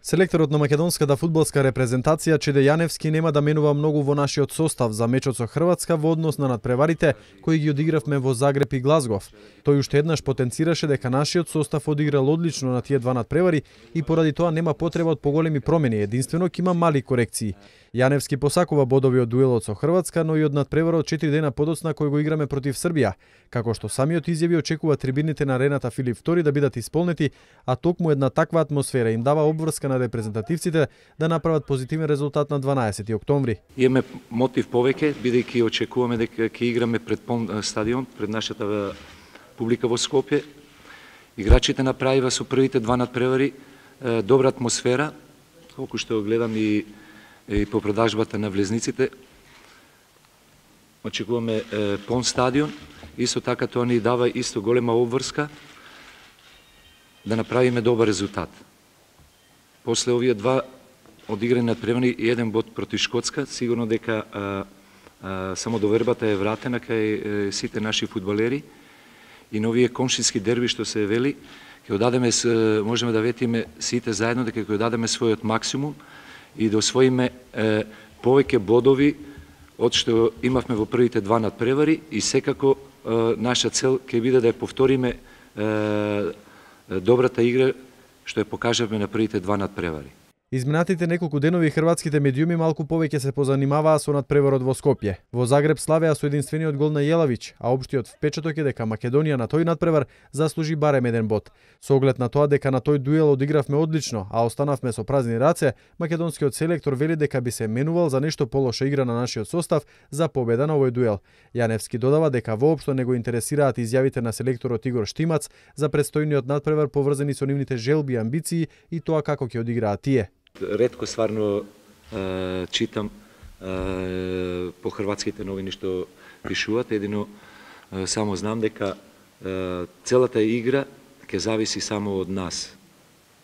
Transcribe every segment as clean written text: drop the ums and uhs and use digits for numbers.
Селекторот на македонската фудбалска репрезентација Чеде Јаневски нема да менува многу во нашиот состав за мечот со Хрватска во однос на надпреварите кои ги одигравме во Загреб и Глазгов. Тој уште еднаш потенцираше дека нашиот состав одиграл одлично на тие два надпревари и поради тоа нема потреба од поголеми промени, единствено ќе има мали корекции. Јаневски посакува бодови од дуелот со Хрватска, но и од надпреварот 4 дена подоцна кој го играме против Србија, како што самиот изјави очекува трибините на арената Филип II да бидат исполнети, а токму една таква атмосфера им дава обврска на репрезентативците да направат позитивен резултат на 12 октомври. Имаме мотив повеќе, бидејќи очекуваме дека ќе играме пред полн стадион, пред нашата публика во Скопје. Играчите направива со првите два надпревари добра атмосфера, колку што гледам и по продажбата на влезниците. Очекуваме полн стадион, исто така тоа ни дава исто голема обврска да направиме добар резултат. После овие два одиграни надпревари и еден бод против Шкотска, сигурно дека само довербата е вратена кај сите наши фудбалери и на овие комшински дерби што се вели, ќе одадеме, можеме да ветиме сите заедно дека ќе одадеме својот максимум и да освоиме повеќе бодови од што имавме во првите два надпревари и секако наша цел ќе биде да ја повториме добрата игра што ја покажавме на првите два надпревари. Изминатите неколку денови хрватските медиуми малку повеќе се позанимаваа со надпреварот во Скопје. Во Загреб славеа со единствениот гол на Јелавич, а општиот впечаток е дека Македонија на тој надпревар заслужи барем еден бод. Со оглед на тоа дека на тој дуел одигравме одлично, а останавме со празни раце, македонскиот селектор вели дека би се менувал за нешто полоша игра на нашиот состав за победа на овој дуел. Јаневски додава дека воопшто не го интересираат изјавите на селекторот Игор Штимац за предстојниот надпревар поврзани со нивните желби и амбиции и тоа како ќе одиграат тие. Ретко стварно читам по хрватските новини што пишуваат, едино само знам дека целата игра ќе зависи само од нас.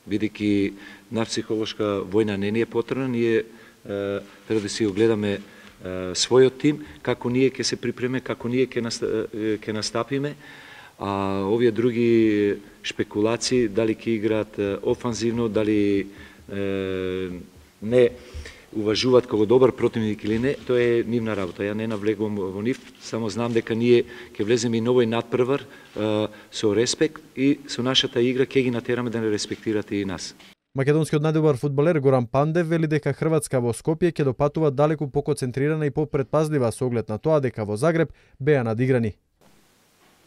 Бидејќи на психолошка војна не ни е потребна, ние треба да си огледаме својот тим, како ние ќе се припреме, како ние ќе настапиме, а овие други шпекулации, дали ќе играат офанзивно, дали не уважуваат кого добар противник или не, тоа е нивна работа. Ја не навлегувам во нив, само знам дека ние ќе влеземе и новој надпревар со респект и со нашата игра ќе ги натераме да не респектирате и нас. Македонскиот најдобар фудбалер Горан Пандев вели дека Хрватска во Скопје ќе допатува далеку поконцентрирана и попредпазлива со оглед на тоа дека во Загреб беа надиграни.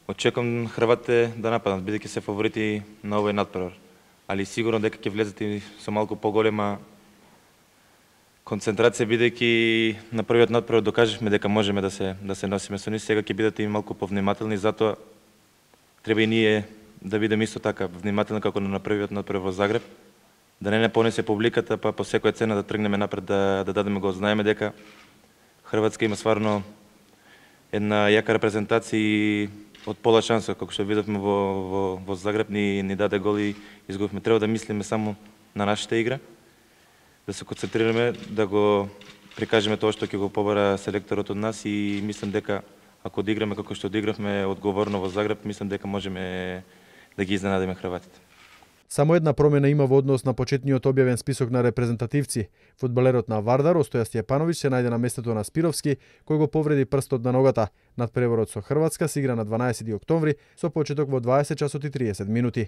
Очекувам хрватите да нападнат, бидејќи се фаворити на овој надпревар. Али сигурно дека ќе влезете со малку поголема концентрација, бидејќи на првиот надпревар докажавме дека можеме да се носиме со нив. Сега ќе бидете и малку повнимателни, затоа треба и ние да бидеме исто така внимателни како на првиот надпревар во Загреб, да не понесе публиката, па по секоја цена да тргнеме напред, да дадеме го знаеме дека Хрватска има стварно една јака репрезентација и од пола шанса, како што видовме во Загреб, ни даде гол и изгубивме. Треба да мислиме само на нашата игра, да се концентрираме, да го прикажеме тоа што ќе го побара селекторот од нас и мислам дека ако одиграме како што одигравме одговорно во Загреб, мислам дека можеме да ги изненадиме хрватите. Само една промена има во однос на почетниот објавен список на репрезентативци. Фудбалерот на Вардар, Остоја Стјепановиќ, се најде на местото на Спировски, кој го повреди прстот на ногата. Надпреварот со Хрватска се игра на 12 октомври со почеток во 20 часот и 30 минути.